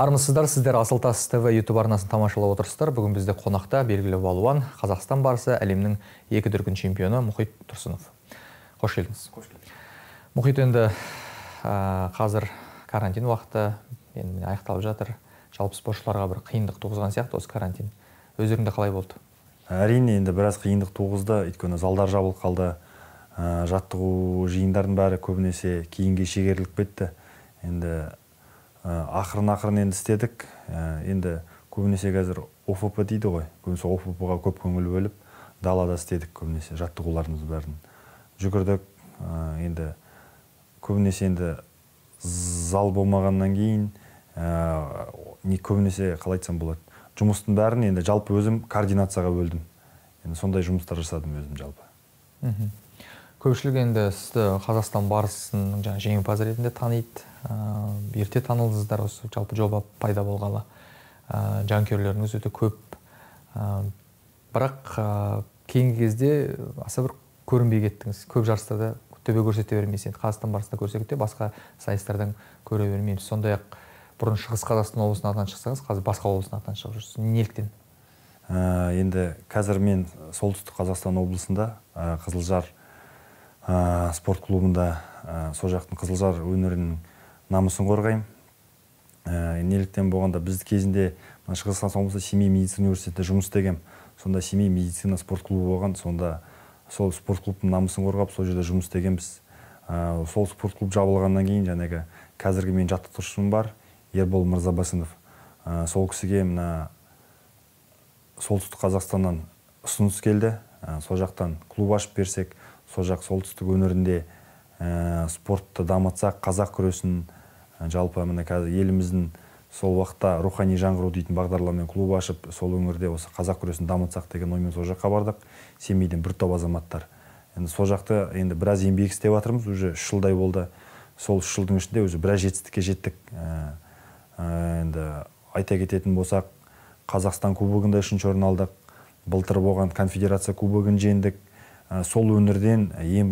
Армысыздар, сіздер Асылтас ТВ YouTube арнасын тамашалап отырсыздар. Бүгін бізде қонақта белгілі балуан, Қазақстан барысы әлемнің 2 дүркін чемпионы Мұхит Тұрсынов. Қош келдіңіз. Мұхит, енді қазір карантин уақыты аяқталып жатыр. Жалпы спортшыларға бір қиындық туғызған сияқты осы карантин. Өздеріңде қалай болды? Әрине, енді біраз қиындық туғызды. Өйткені залдар жабылып қалды. Жаттығу жиындардың бәрі көбінесе кейінге шегеріліп кетті. Енді ақырын енді істедік. Енді көбінесе қазір ОФП дейді ғой. Көбінесе ОФП-ға көп көңіл бөліп, далада істедік көбінесе жаттығуларымыз бәрін. Жүгірдік. Енді көбінесе енді зал болмағаннан кейін көбінесе қалай айтсам болады. Жұмыстың бәрін енді жалпы өзім координацияға бөлдім. Енді сондай жұмыстар жасадым өзім жалпы. Көпшілік енді сізді Қазақстан барысының жеңімпаз ретінде таниды. Ерте танылдыңыздар, осы жалпы жоба пайда болғалы. Жанкүйерлеріңіз өте көп. Бірақ кейінгі кезде аса бір көрінбей кеттіңіз. Көп жарыстарда төбе көрсете бермейсіз. Енді Қазақстан барысында көрсек те басқа сайыстардан көре бермейміз. Сондай-ақ бұрын Шығыс Қазақстан облысының атынан шықсаңыз, қазір басқа облыстың атынан шығып жүрсіз. Неліктен? Енді қазір мен Солтүстік Қазақстан облысында Қызылжар спорт клубында сол жақтың Қызылжар өнерінің намысын қорғаймын. Неліктен болғанда біз кезінде Шығыс Қазақстан облысында Семей медицина университетінде жұмыс істегем. Сонда Семей медицина спорт клубы болған, сонда сол спорт клубтың намысын қорғап, сол жерде жұмыс істегенбіз. Сол спорт клуб жабылғаннан кейін жаңағы қазіргі мен жаттықтырушым бар, Ербол Мырзабасынов. Сол кісіге мына Солтүстік Қазақстаннан ұсыныс келді. Сол жақтан клуб ашып берсек, сол жақ солтүстік өңірінде спортты дамытсақ, қазақ күресін жалпы мына қазір еліміздің сол уақытта рухани жаңғыру дейтін бағдарламамен клуб ашып, сол өңірде осы қазақ күресін дамытсақ деген оймен сол жаққа бардық. Семейден бір топ азаматтар. Енді сол жақта енді біраз еңбек істеп жатырмыз, уже 3 жылдай болды. Сол 3 жылдың ішінде уже біраз жетістікке жеттік. Енді айта кететін болсақ, Қазақстан кубогында 3-ші орын алдық. Былтыр болған конфедерация кубогын жеңдік. Сол өңірден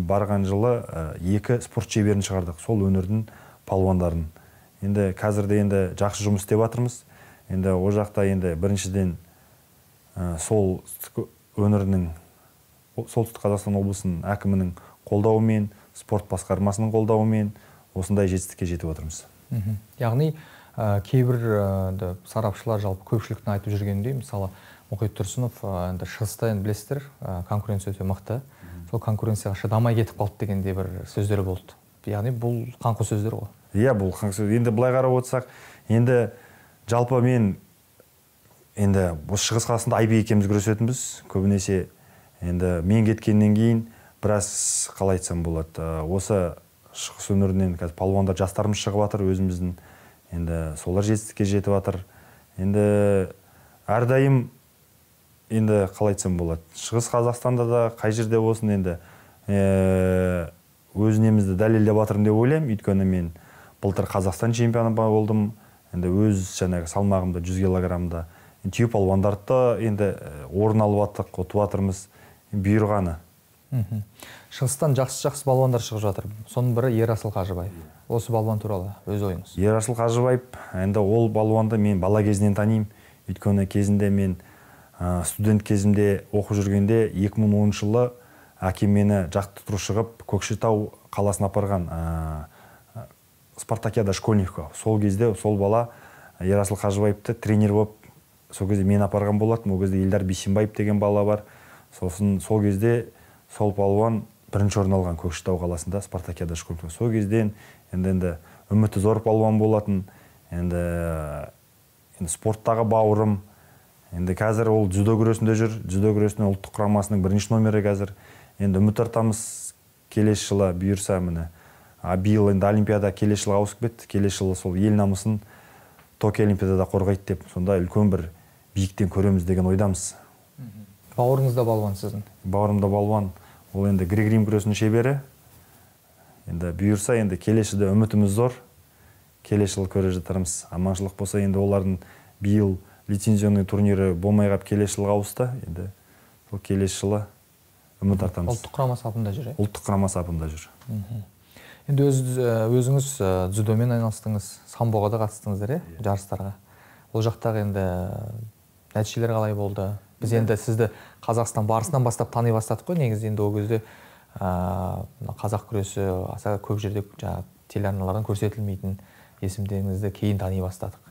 барған жылы 2 спорт шеберін шығардық. Сол өңірдің палуандарын. Енді қазірде енді жақсы жұмыс істеп жатырмыз. Енді о жақта енді біріншіден сол өңірінің Солтүстік Қазақстан облысының әкімінің қолдауымен, спорт басқармасының қолдауымен осындай жетістікке жетіп отырмыз. Яғни кейбір сарапшылар жалпы көпшіліктің айтып жүргендей, мысалы Мұхит Тұрсынов шығыста енді білесіздер, конкуренция өте мықты. Сол конкуренцияға шыдамай кетіп қалды дегенде бір сөздері болды. Яғни бұл қаңқу сөздер ғой. Иә, бұл қаңқу сөздер. Енді былай қарап отырсақ, енді жалпы мен енді осы Шығыс Қазақстанда Айбек екеуміз күресетінбіз. Көбінесе енді мен кеткеннен кейін біраз қалай айтсам болады. Осы шығыс өңірінен қазір палуандар жастарымыз шығып жатыр, өзіміздің енді солар жетістікке жетіп жатыр. Енді әрдайым енді қалай айтсам болады. Шығыс Қазақстанда да қай жерде болсын енді өзінемізді дәлелдеп жатырмын деп ойлаймын. Өйткені мен былтыр Қазақстан чемпионы болдым. Енді өз жаңағы салмағымда 100 килограммда түйе палуандарды енді орын алып жаттық, ұтып жатырмыз. Бұйырғаны. Шығыстан жақсы балуандар шығып жатыр. Соның бірі Ерасыл Қажыбаев. Осы балуан туралы өз ойыңыз. Ерасыл Қажыбаев, енді ол балуанды мен бала кезінен танимын. Өйткені кезінде мен студент кезімде оқып жүргенде 2010 жылы әкем мені жаттықтыру шығып Көкшетау қаласына апарған Спартакиада школьникқа. Сол кезде сол бала Ерасыл Қажыбаевты тренер болып, сол кезде мен апарған болатын. Ол кезде Елдар Бейсенбаев деген бала бар. Сосын сол кезде сол балуан бірінші орын алған Көкшетау қаласында Спартакиада школьникқа. Сол кезден енді үміті зор балуан болатын. Енді спорттағы бауырым. Енді қазір ол дзюдо күресінде жүр. Дзюдо күресінің ұлттық құрамасының 1-ші номері қазір. Енді үміт артамыз келесі жылы бұйырса міне. Биыл енді Олимпиада келесі жылға ауысып кетті. Келесі жылы сол ел намысын Токио Олимпиадада қорғайды деп, сонда үлкен бір биіктен көреміз деген ойдамыз. Бауырыңызда балуан сіздің? Бауырымда балуан. Ол енді грек-рим күресінің шебері. Енді бұйырса енді келесі жылда үмітіміз зор. Келесі жылы көре жатармыз. Аманшылық болса енді олардың биыл лицензионный турнирі болмай қап келесі жылға ауысты. Енді сол келесі жылы үміт артамыз. Ұлттық құрама сапында жүр. Ұлттық құрама сапында жүр. Енді өзіңіз дзюдомен айналыстыңыз, самбоға да қатыстыңыздар, жарыстарға. Ол жақтағы енді нәтижелер қалай болды? Біз енді сізді Қазақстан барысынан бастап тани бастадық қой, негізі енді ол кезде қазақ күресі аса көп жерде телеарналардан көрсетілмейтін есімдеріңізді кейін тани бастадық.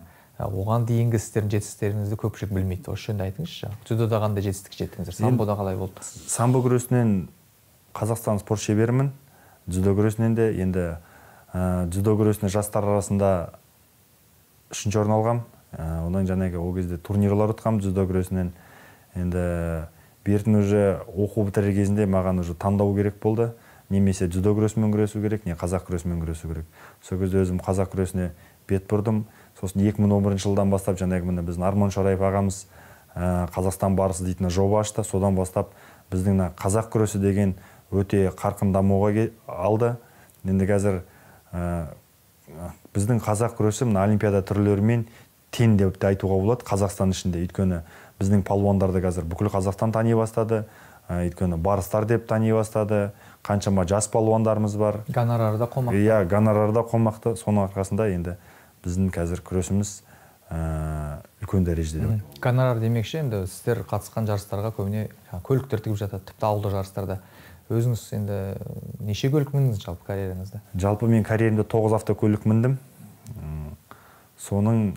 Оған дейінгі сіздердің жетістіктеріңізді көпшілік білмейді. Осы жөнінде айтыңызшы. Дзюдода қандай жетістік жеттіңіздер? Самбода қалай болды? Самбо күресінен Қазақстан спорт шеберімін. Дзюдо күресінен де енді дзюдо күресіне жастар арасында 3-ші орын алғам. Одан жаңағы ол кезде турнирлар өткам дзюдо күресінен. Енді бертін уже оқу бітірер кезінде маған уже таңдау керек болды. Немесе дзюдо күресімен күресу керек, не қазақ күресімен күресу керек. Сол кезде өзім қазақ күресіне бет бұрдым. Сосын 2011 жылдан бастап жаңағы міне біздің Арман Шораев ағамыз Қазақстан барысы дейтін жоба ашты. Содан бастап біздің қазақ күресі деген өте қарқын дамуға алды. Енді қазір біздің қазақ күресі мына олимпиада түрлерімен тең деп айтуға болады Қазақстан ішінде. Өйткені біздің палуандарды қазір бүкіл Қазақстан тани бастады. Өйткені барыстар деп тани бастады. Қаншама жас палуандарымыз бар. Гонорары да қомақты. Иә, гонорары да қомақты. Соның арқасында енді біздің қазір күресіміз үлкен дәрежеде деп. Гонорар демекші, енді сіздер қатысқан жарыстарға көбіне көліктер тігіп жатады, тіпті ауылдық жарыстарда. Өзіңіз енді неше көлік міндіңіз жалпы карьераңызда? Жалпы мен карьеремде 9 автокөлік міндім. Соның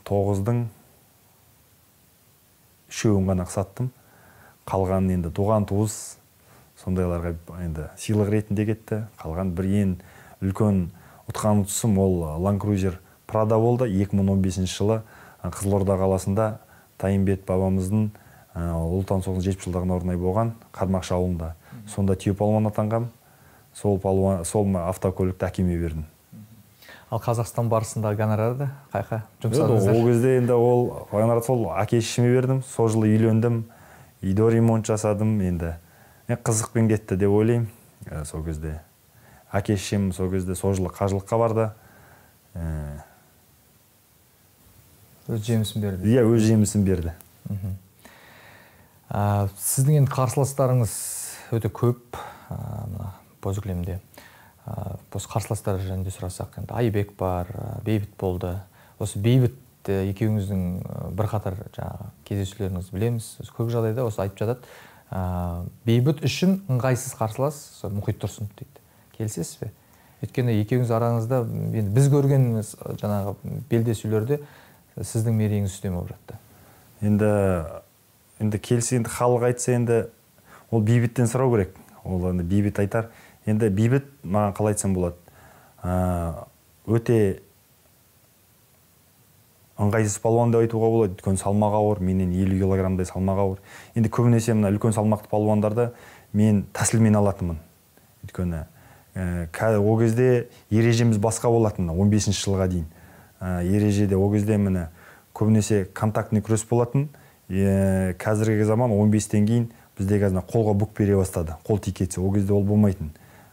9-дың 3-еуін ғана саттым. Қалған енді туған туыс сондайларға енді сыйлық ретінде кетті. Қалған бір ең үлкен ұтқан ұтысым ол Land Cruiser Prado болды. 2015 жылы Қызылорда қаласында Тайымбет бабамыздың ұлы отан соғысының 70 жылдығына орай болған Қармақшы ауылында. Сонда түйе палуан атанғам. Сол автокөлікті әкеме бердім. Ал Қазақстан барысында гонорарды қайқа жұмсадыңыздар? Ол кезде енді ол гонорарды сол әке-шешеме бердім. Сол жылы үйлендім. Үйді ремонт жасадым. Енді қызықпен кетті деп ойлаймын. Сол кезде әке-шешем сол кезде сол жылы қажылыққа барды. Өз жемісін берді. Иә, өз жемісін берді. Сіздің енді қарсыластарыңыз өте көп, боз кілемде. Осы қарсыластар жөнінде сұрасақ, енді Айбек бар, Бейбіт болды. Осы Бейбіт екеуіңіздің бірқатар кездесулеріңізді білеміз. Көп жағдайда осы айтып жатады. Бейбіт үшін ыңғайсыз қарсылас Мұхит Тұрсынов дейді. Келісесіз бе? Өйткені екеуіңіз араңызда біз көрген жаңағы белдесулерде сіздің мерейіңіз үстем болып жатты. Енді келсе, енді халық айтса, енді ол Бейбіттен сұрау керек. Ол енді Бейбіт айтар. Енді Бейбіт маған қалай айтсам болады. Өте ыңғайсыз палуан деп айтуға болады. Өйткені салмағы ауыр, менен 50 килограммдай салмағы ауыр. Енді көбінесе мына үлкен салмақты палуандарды мен тәсілмен алатынмын. Өйткені ол кезде ережеміз басқа болатын, 15 жылға дейін. Ережеде ол кезде міне көбінесе контактный күрес болатын. Қазіргі заман 15-тен кейін бізде қазір қолға бүк бере бастады. Қол тикетсе, ол кезде ол болмайтын.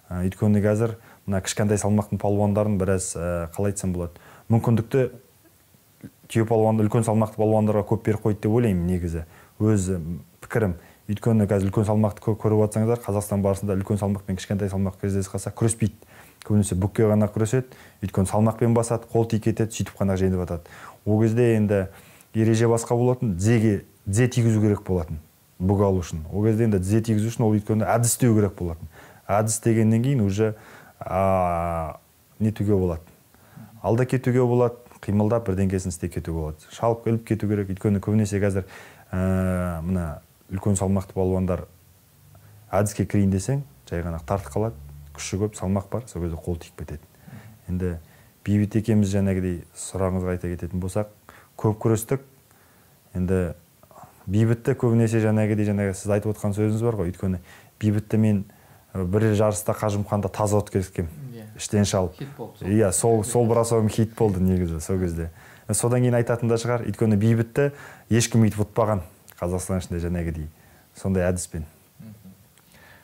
Өйткені қазір мына кішкентай салмақтың палуандарын біраз қалай айтсам болады. Мүмкіндікті түйе палуанды, үлкен салмақты палуандарға көп беріп қойды деп ойлаймын негізі. Өз пікірім. Өйткені қазір үлкен салмақты көріп жатсаңыздар, Қазақстан барысында үлкен салмақ пен кішкентай салмақ кездесіп қалса күреспейді. Көбінесе бүкке ғана күреседі. Өйткені салмақпен басады, қол тикетеді, сөйтіп қана жеңіп жатады. Ол кезде енді ереже басқа болатын, дзе тигізу керек болатын, бүк алу үшін. Ол кезде енді дзе тигізу үшін ол өйткені әдіс деу керек болатын. Әдіс дегеннен кейін уже нетуге болады. Алда кетуге болады, қимылдап бірдеңкесін істеп кетуге болады. Шалып іліп кету керек. Өйткені көбінесе қазір мына үлкен салмақты палуандар әдіске кірейін десең, жай ғана тартып қалады. Күші көп, салмақ бар, сол кезде қол тиіп кетеді. Енді Бейбіт екеуміз жаңағыдай сұрағыңызға айта кететін болсақ, көп күрестік. Енді Бейбітті көбінесе жаңағы сіз айтып отқан сөзіңіз бар ғой. Өйткені Бейбітті мен бір жарыста Қажымқанда таза ұтып кеткем. Іштен шалып. Иә, сол брасовым хит болды негізі сол кезде. Содан кейін айтатын да шығар. Өйткені Бейбітті ешкім үйтіп ұтпаған Қазақстан ішінде жаңағыдай сондай әдіспен.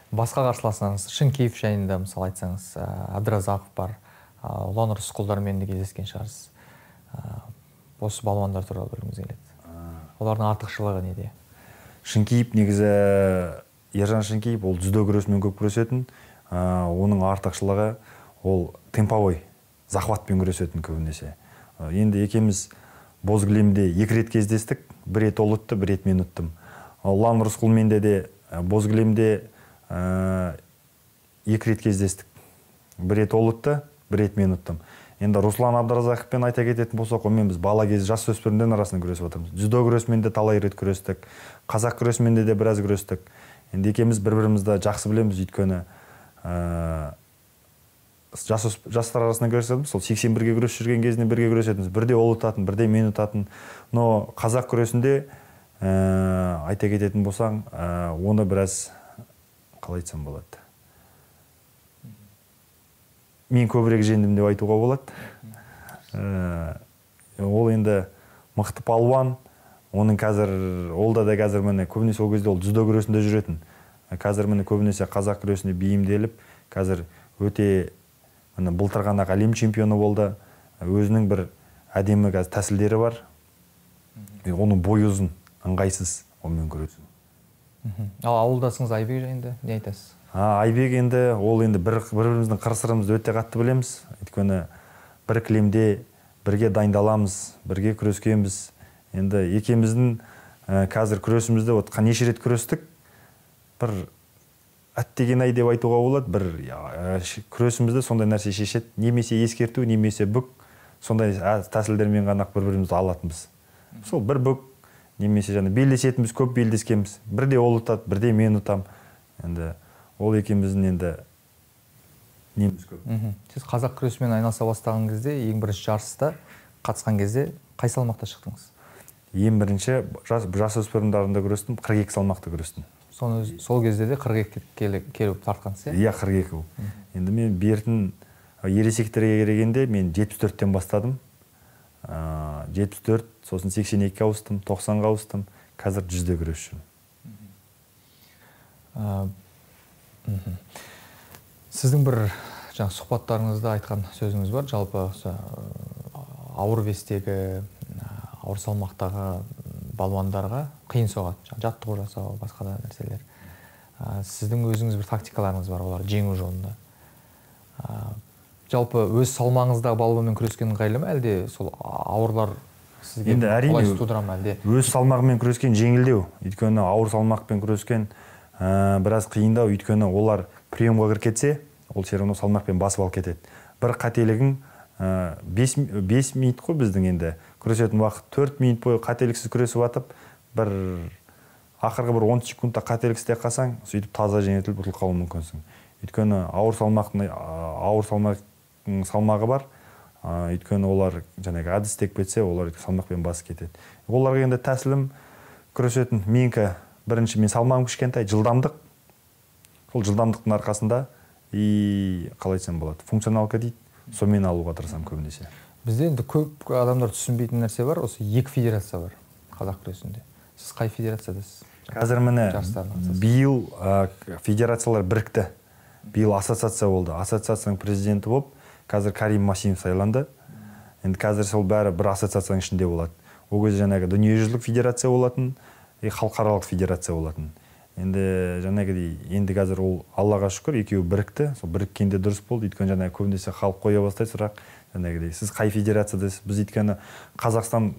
Басқа қарсыласыңыз Шынкеев жайында мысалы айтсаңыз, Абдразақов бар, Ұлан Рысқұлдармен де кездескен шығарсыз. Осы балуандар туралы білгіңіз келеді. Олардың артықшылығы неде? Шынкеев негізі Ержан Шынкеев ол дзюдо күресімен көп күресетін. Оның артықшылығы ол темповой захватпен күресетін көбінесе. Енді екеміз боз кілемде 2 рет кездестік, 1 рет ол ұтты, 1 рет мен ұттым. Ұлан Рысқұлменде де боз кілемде 2 рет кездестік, 1 рет ол ұтты, 1 рет мен ұттым. Енді Руслан Абдыразақовпен айта кететін болсақ, онымен біз бала кез жас өспірімден арасында күресіп отырмыз. Дзюдо күресімен де талай рет күрестік, қазақ күресімен де біраз күрестік. Енді екеміз бір-бірімізді жақсы білеміз, өйткені жастар арасында күресетіміз, сол 81-ге күресіп жүрген кезінде бірге күресетіміз. Бірде ол ұтатын, бірде мен ұтатын. Но қазақ күресінде айта кететін болсаң, оны біраз қалай айтсам болады. Мен көбірек жеңдім деп айтуға болады. Ол енді мықты палуан. Оның қазір, олда да қазір міне көбінесе ол кезде ол дзюдо күресінде жүретін. Қазір міне көбінесе қазақ күресіне бейімделіп, қазір өте былтыр ғана әлем чемпионы болды. Өзінің бір әдемі тәсілдері бар. Оның бойы ұзын, ыңғайсыз, онымен күресу. Ал ауылдасыңыз Айбек жайында не айтасыз? Айбек енді, ол енді бір-біріміздің қыр-сырымызды өте қатты білеміз. Өйткені бір кілемде бірге дайындаламыз, бірге күрескенбіз. Енді екеміздің қазір күресімізді неше рет күрестік. Бір әттеген-ай деп айтуға болады. Бір күресімізді сондай нәрсе шешеді. Немесе ескерту, немесе бүк. Сондай тәсілдермен ғана бір-бірімізді алатынбыз. Сол бір бүк, немесе белдесетіміз, көп белдескенбіз. Бірде ол ұтады, бірде мен ұтам. Енді ол екеміздің енді неміз көп. Сіз қазақ күресімен айналыса бастаған кезде, ең бірінші жарыста қатысқан кезде қай салмақта шықтыңыз? Ең бірінші жасөспірімдерінде күрестім, 42 салмақты күрестім. Сол кезде де 42 келіп тартқансыз, иә? Иә, 42 ол. Енді мен бертін ересектерге келгенде мен 74-тен бастадым. 74, сосын 82-ге ауыстым, 90-ға ауыстым, қазір 100-де күресшім. Сіздің бір сұхбаттарыңызда айтқан сөзіңіз бар, жалпы ауыр вестегі, ауыр салмақтағы балуандарға қиын соғады, жаттығу жасау, басқа да нәрселер. Сіздің өзіңіз бір тактикаларыңыз бар, олар жеңу жолында. Жалпы өз салмағыңыздағы балуанмен күрескен ыңғайлы ма, әлде сол ауырлар сізге қолайсыз тудыра ма, әлде? Өз салмағымен күрескен жеңілдеу. Өйткені ауыр салмақпен күрескен біраз қиындау, өйткені олар приемға кіріп кетсе, ол все равно салмақпен басып алып кетеді. Бір қателігің 5 минут қой біздің енді күресетін уақыт, 4 минут бойы қателіксіз күресіп атып, бір ақырғы бір 10 секундта қателік істеп қалсаң, сөйтіп таза жеңілтіліп ұтылып қалуы мүмкінсің. Өйткені ауыр салмағы бар. Өйткені олар әдіс істеп кетсе, олар салмақпен басып кетеді. Оларға енді тәсілім күресетін менікі бірінші мен салмағым кішкентай, жылдамдық. Сол жылдамдықтың арқасында қалай айтсам болады, функционалка дейді, сонымен алуға тырысамын көбінесе. Бізде енді көп адамдар түсінбейтін нәрсе бар, осы 2 федерация бар қазақ күресінде. Сіз қай федерациядасыз? Қазір міне биыл федерациялар бірікті. Биыл ассоциация болды. Ассоциацияның президенті болып, қазір Карим Масимов сайланды. Енді қазір сол бәрі бір ассоциацияның ішінде болады. Ол кезде дүниежүзілік федерация болатын, халықаралық федерация болатын. Енді қазір ол Аллаға шүкір, екеуі бірікті. Сол біріккенде дұрыс болды. Өйткені көбінесе халық қоя бастайды сұрақ. Сіз қай федерациядасыз? Біз өйткені Қазақстан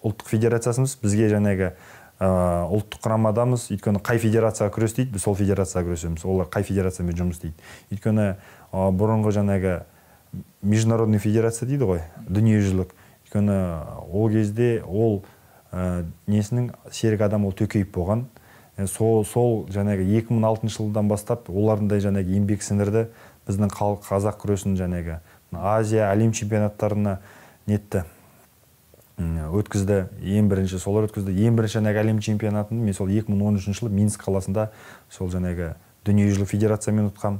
ұлттық федерациясымыз, бізге ұлттық құрамадамыз. Өйткені қай федерацияға күрес дейді, біз сол федерацияға күресеміз. Олар қай федерациямен жұмыс дейді. Өйткені бұрынғы международный федерация дейді ғой, дүниежүзілік. Өйткені ол кезде ол несінің серік адам ол Төкеев болған. Сол 2006 жылдан бастап олардың еңбек сіңірді. Біздің қазақ күресін Азия, әлем чемпионаттарына нетті. Өткізді, ең бірінші солар өткізді. Ең бірінші әлем чемпионатын мен сол 2013 жылы Минск қаласында сол дүниежүзілік федерациямен ұтқам.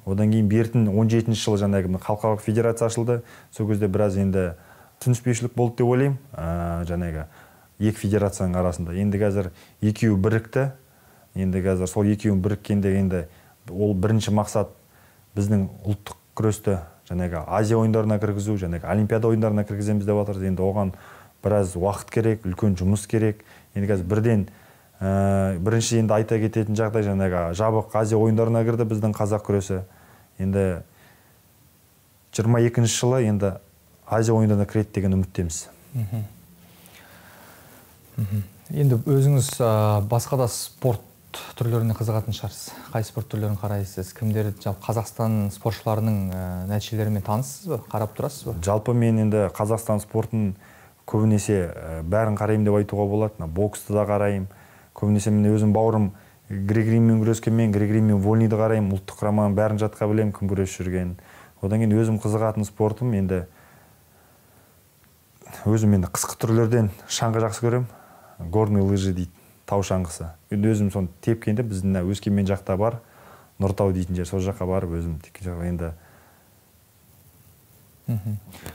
Одан кейін бертін 17 жылы халықаралық федерация ашылды. Сол кезде біраз енді түсініспеушілік болды деп ойлаймын. Екі федерацияның арасында. Енді қазір екеуі бірікті. Енді қазір сол екеуін біріккенде енді ол бірінші мақсат біздің ұлттық күресті Азия ойындарына кіргізу, Олимпиада ойындарына кіргіземіз деп жатырмыз. Енді оған біраз уақыт керек, үлкен жұмыс керек. Енді қазір бірінші енді айта кететін жағдай жабық Азия ойындарына кірді біздің қазақ күресі. Енді 22 жылы енді Азия ойындарына кіреді деген үміттеміз. Енді өзіңіз басқа да спорт түрлеріне қызығатын шығарсыз. Қай спорт түрлерін қарайсыз? Кімдер, жалпы Қазақстан спортшыларының нәтижелерімен таныссыз ба? Қарап тұрасыз ба? Жалпы мен енді Қазақстан спортын көбінесе бәрін қараймын деп айтуға болады. Боксты да қараймын. Көбінесе мен өзім бауырым грек-риммен күрескенмен, грек-риммен вольниді қараймын. Ұлттық құраманың бәрін жатқа білемін, кім күресіп жүргенін. Одан кейін өзім қызығатын спортым енді қысқы түрлерден шаңғы жақсы көремін. Горный лыжи дейді, тау шаңғысы. Енді өзім соны тепкенде біздің Өскемен жақта бар, Нұртау дейтін жер, сол жаққа барып өзім енді.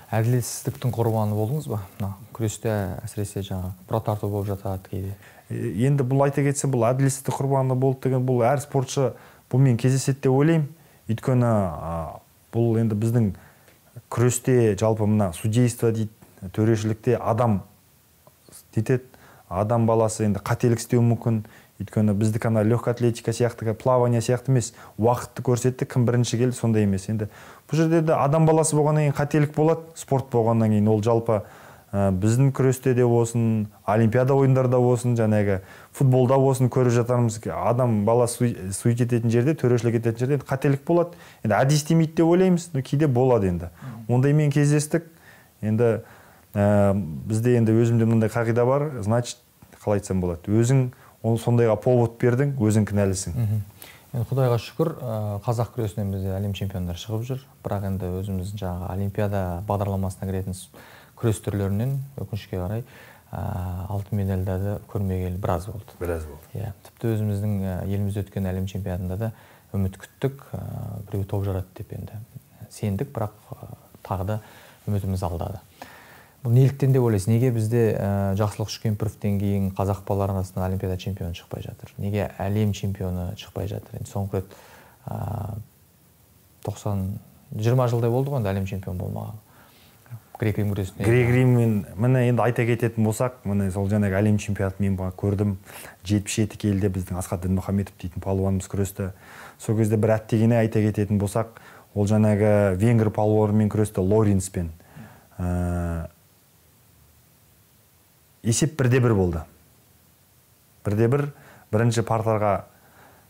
Әділетсіздіктің құрбаны болдыңыз ба? Күресте әсіресе жаңа бұра тарту болып жатады кейде. Енді бұл айта кетсе, бұл әділетсіздік құрбаны болды деген, бұл әр спортшы бұлмен кездеседі деп ойлаймын. Өйткені бұл енді біздің күресте жалпы мына судейство дейді, төрешілікте адам дейді, адам баласы енді қателік істеуі мүмкін. Өйткені біздік ана легкая атлетика сияқты, плавание сияқты емес, уақытты көрсетті, кім бірінші келді, сондай емес. Енді бұл жерде де адам баласы болғаннан кейін қателік болады, спорт болғаннан кейін ол жалпы біздің күресте де болсын, олимпиада ойындарда болсын, жаңағы футболда болсын көріп жатармыз. Адам баласы суйт ететін жерде, төрешілік ететін жерде қателік болады. Енді әдейі істемейді деп ойлаймыз, кейде болады енді. Ондаймен кездестік. Енді бізде енді өзімде мынандай қағида бар, значит, қалай айтсам болады, өзің сондайға повод бердің, өзің кінәлісің. Құдайға шүкір, қазақ күресінен бізде әлем чемпиондары шығып жүр. Бірақ енді өзіміздің жаңағы олимпиада бағдарламасына кіретін күрес түрлерінен өкінішке қарай алтын медальдарды көрмегелі біраз болды. Тіпті өзіміздің елімізде өткен әлем чемпионатында да үміт күттік, біреу топ жарады деп енді сендік, бірақ тағы да үмітіміз алдады. Бұл неліктен деп ойлайсыз? Неге бізде Жақсылық Шүкемпіровтен кейін қазақ балалар арасында олимпиада чемпионы шықпай жатыр? Неге әлем чемпионы шықпай жатыр? Енді соңғы рет 20 жылдай болды ғой әлем чемпион болмаған. Грек-рим күресіне. Грек-риммен міне енді айта кететін болсақ, міне сол жаңағы әлем чемпионатын мен көрдім. 77 келіде біздің Асқат Дінмұхаметов дейтін палуанымыз күресті. Сол кезде бір әттегене айта кететін болсақ, ол жаңағы венгр палуанымен күресті Лоренспен. Есеп 1-1 болды. 1-1, бірінші партарға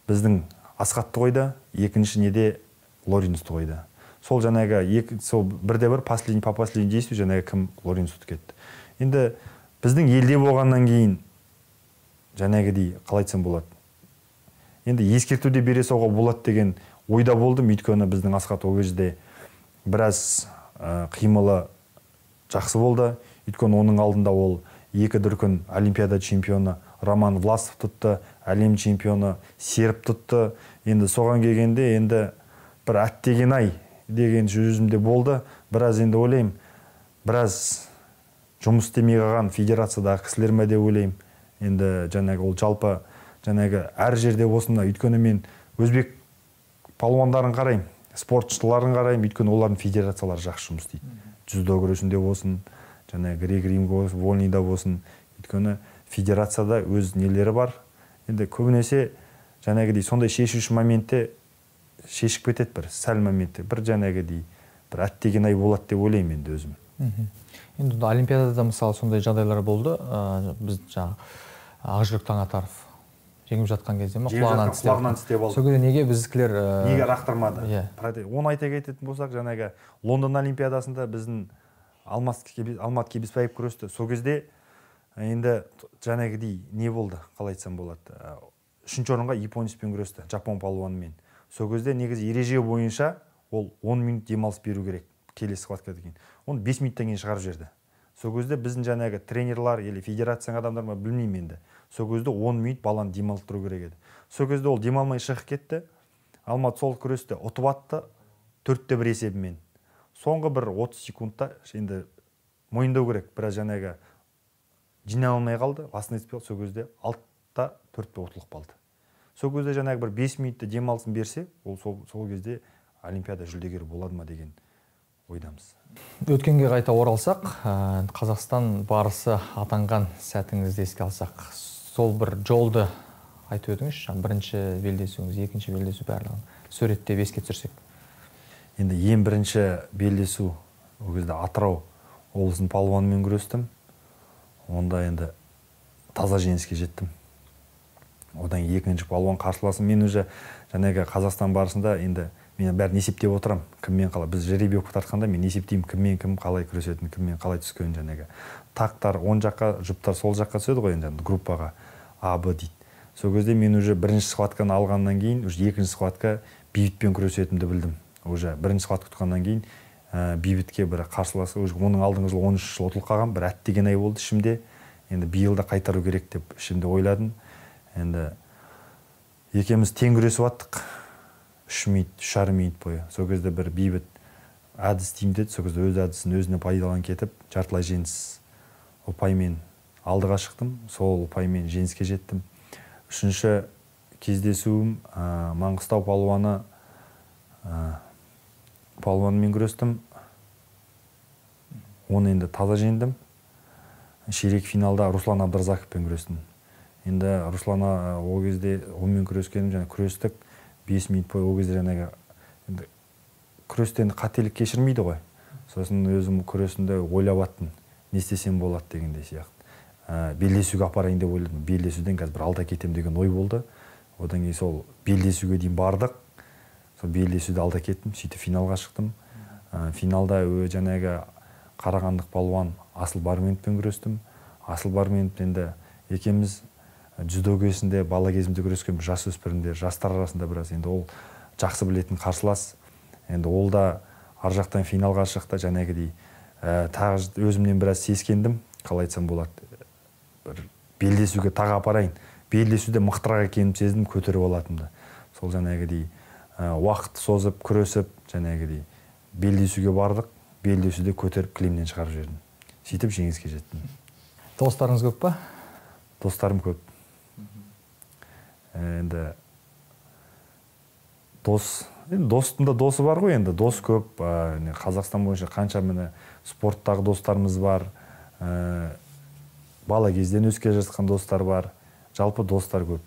біздің Асқатты қойды, екінші неде Лоренсті қойды. Сол жаңағы 1-1 последний по последний действию жаңағы кім Лоренсті кетті. Енді біздің елде болғаннан кейін жаңағыдей қалай айтсам болады. Енді ескертуде бере салуға болады деген ойда болдым, өйткені біздің Асқат ол кезде біраз қимылы жақсы болды. Өйткені оның алдында ол 2 дүркін олимпиада чемпионы Роман Власов тұтты, әлем чемпионы Серіп тұтты. Енді соған келгенде енді бір әттеген ай деген жүзімде болды. Біраз енді ойлаймын, біраз жұмыс істемей қалған федерациядағы кісілер ме деп ойлаймын. Енді жаңағы ол жалпы жаңағы әр жерде осында, өйткені мен өзбек палуандарын қараймын, спортшыларын қараймын, өйткені олардың федерациялары жақсы жұмыс істейді. Дзюдо күресінде болсын, жаңағы грек-рим болсын, вольнида болсын, өйткені федерацияда өз нелері бар. Енді көбінесе жаңағыдей сондай шешуші моментте шешіп кетеді бір сәл моментте, бір жаңағыдей бір әттеген ай болады деп ойлаймын енді өзім. Енді олимпиадада мысалы сондай жағдайлар болды. Біз жаңағы Ақжүрек Таңатаров жеңіп жатқан кезде құлағынан тістеп алды. Сол кезде неге біздікілер неге рақтырмады? Оны айта кететін болсақ, жаңағы Лондон олимпиадасында біздің Алмат Кебеспаев күресті. Сол кезде енді жаңағыдей не болды, қалай айтсам болады. 3-ші орынға японецпен күресті, жапон палуанымен. Сол кезде негізі ереже бойынша ол 10 минут демалыс беру керек келесі схваткадан кейін. Оны 5 минуттан кейін шығарып жіберді. Сол кезде біздің жаңағы тренерлар или федерацияның адамдар ма білмеймін енді. Сол кезде 10 минут баланы демалдыру керек еді. Сол кезде ол демалмай шығып кетті. Алмат сол күресті ұтып атты 4-1 есебімен. Соңғы бір 30 секундта енді мойындау керек. Біраз жаңағы жинай алмай қалды. Басын етпей сол кезде 6-4 ұтылып қалды. Сол кезде жаңағы бір 5 минутта демалысын берсе, ол сол кезде олимпиада жүлдегері болады ма деген ойдамыз. Өткенге қайта оралсақ, Қазақстан барысы атанған сәтіңізді еске алсақ, сол бір жолды айтып өтіңізші, бірінші белдесуіңіз, екінші белдесу барлығын суреттеп еске түсірсек. енді ең бірінші белдесу ол кезде Атырау облысының палуанымен күрестім. Онда енді таза жеңіске жеттім. Одан екінші палуан қарсыласым. Мен уже жаңағы Қазақстан барысында енді мен бәрін есептеп отырам. Кіммен қалай. Біз жеребе оқып тартқанда мен есептеймін кіммен кім қалай күресетінін, кіммен қалай түскенін жаңағы. Тақтар оң жаққа, жұптар сол жаққа түседі ғой енді группаға А, Б дейді. Сол кезде мен уже бірінші схватканы алғаннан кейін, уже екінші схватка бейбітпен күресетімді білдім. Уже бірінші схватка тұтқаннан кейін бейбітке бір қарсыласы, оның алдыңғы жылы 13 жыл ұтылып қалған, бір әттеген ай болды ішімде. Енді биылда қайтару керек деп ішімде ойладым. Енді екеуміз тең күресіп аттық. 3,5 минут бойы. Сол кезде бір бейбіт әдіс деймін деді. Сол кезде өз әдісін өзіне пайдаланып кетіп, жартылай жеңіс ұпаймен алдыға шықтым. Сол ұпаймен жеңіске жеттім. Үшінші кездесуім Маңғыстау палуанымен күрестім. Оны енді таза жеңдім. Ширек финалда Руслан Абдразаковпен күрестім. Енді Руслан ол кезде онымен күрескенім, және күрестік 5 минут бойы. Ол кезде жаңағы күрестен қателік кешірмейді ғой. Сосын өзім күресінде ойлап аттым, не істесем болады дегендей сияқты. Белдесуге апарайын деп ойладым. Белдесуден қазір бір алда кетем деген ой болды. Одан кейін сол белдесуге дейін бардық. Сол белдесуде алда кеттім, сөйтіп финалға шықтым. Финалда жаңағы қарағандық палуан Асыл Барменовпен күрестім. Асыл Барменов енді екеуміз дзюдо кезінде, бала кезімде күрескен жасөспірімдер, жастар арасында біраз. Енді ол жақсы білетін қарсылас. Енді ол да ар жақтан финалға шықты, жаңағыдей тағы өзімнен біраз сескендім. Қалай айтсам болады. Белдесуге тағы апарайын. Белдесуде мықтырақ екенін сездім, көтеріп алатынды. Сол жаңағыдей уақыт созып, күресіп, жаңағыдей белдесуге бардық. Белдесуде көтеріп кілемнен шығарып жібердім. Сөйтіп жеңіске жеттім. Достарыңыз көп па? Достарым көп. Енді достың да досы бар ғой, енді дос көп. Қазақстан бойынша қанша міне спорттағы достарымыз бар. Бала кезден өске жатқан достар бар. Жалпы достар көп.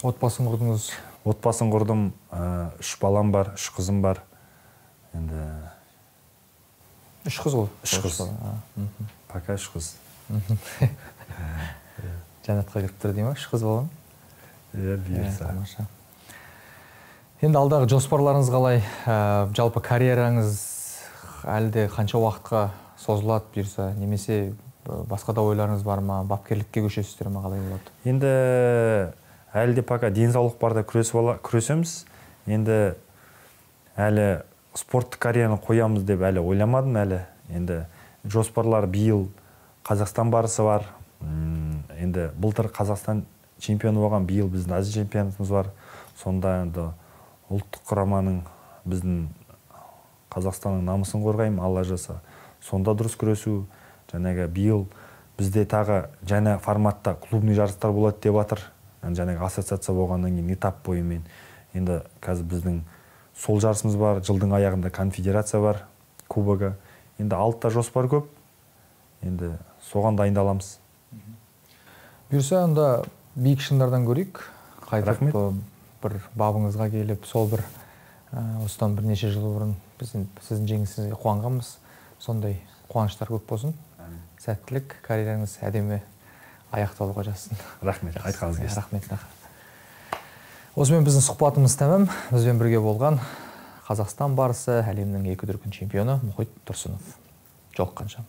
Отбасын құрдыңыз? Отбасын құрдым. 3 балам бар, 3 қызым бар. Енді 3 қыз ғой? 3 қыз. Пока 3 қыз. Жәннатқа кіріп тұр дейм, 3 қыз болған? Иә, бұйырса. Енді алдағы жоспарларыңыз қалай? Жалпы карьераңыз әлде қанша уақытқа созылады бұйырса, немесе басқа да ойларыңыз бар ма? Бапкерлікке көшесіздер ме, қалай болады? Енді әлде пока денсаулық барда күресеміз. Енді әлі спорттық карьераны қоямыз деп әлі ойламадым әлі. Енді жоспарлар биыл Қазақстан барысы бар. Енді былтыр Қазақстан чемпионы болған, биыл біздің Азия чемпионатымыз бар. Сонда енді ұлттық құраманың біздің Қазақстанның намысын қорғаймын, Алла жаса. Сонда дұрыс күресу. Жаңағы биыл бізде тағы жаңа форматта клубный жарыстар болады деп жатыр. Жаңағы ассоциация болғаннан кейін этап бойымен. Енді қазір біздің сол жарысымыз бар, жылдың аяғында конфедерация бар, кубогы. Енді алтыда жоспар көп. Енді соған дайындаламыз. Бұйырса, онда биік шыңдардан көрейік. Қайтып бір бабыңызға келіп, сол бір осыдан бірнеше жыл бұрын сіздің жеңісіңізге қуанғанбыз. Сондай қуаныштар көп болсын. Сәттілік, карьераңыз әдемі аяқталуға жазсын. Рахмет, айтқаныңыз келсін. Рахмет. Осымен біздің сұхбатымыз тәмам. Бізбен бірге болған Қазақстан барысы, әлемнің 2 дүркін чемпионы Мұхит Тұрсынов. Жолыққанша.